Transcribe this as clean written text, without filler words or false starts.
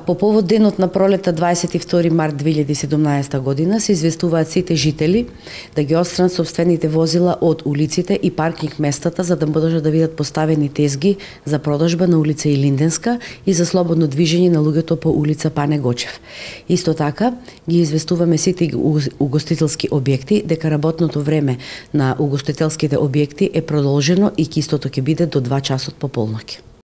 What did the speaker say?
По повод денот на пролета 22 март 2017 година се известуваат сите жители да ги отстранат сопствените возила од улиците и паркинг местата за да можат да бидат поставени тезги за продажба на улица Илинденска и за слободно движење на луѓето по улица Пане Гочев. Исто така ги известуваме сите угостителски објекти дека работното време на угостителските објекти е продолжено и истото ќе биде до 2 часот по полноќ.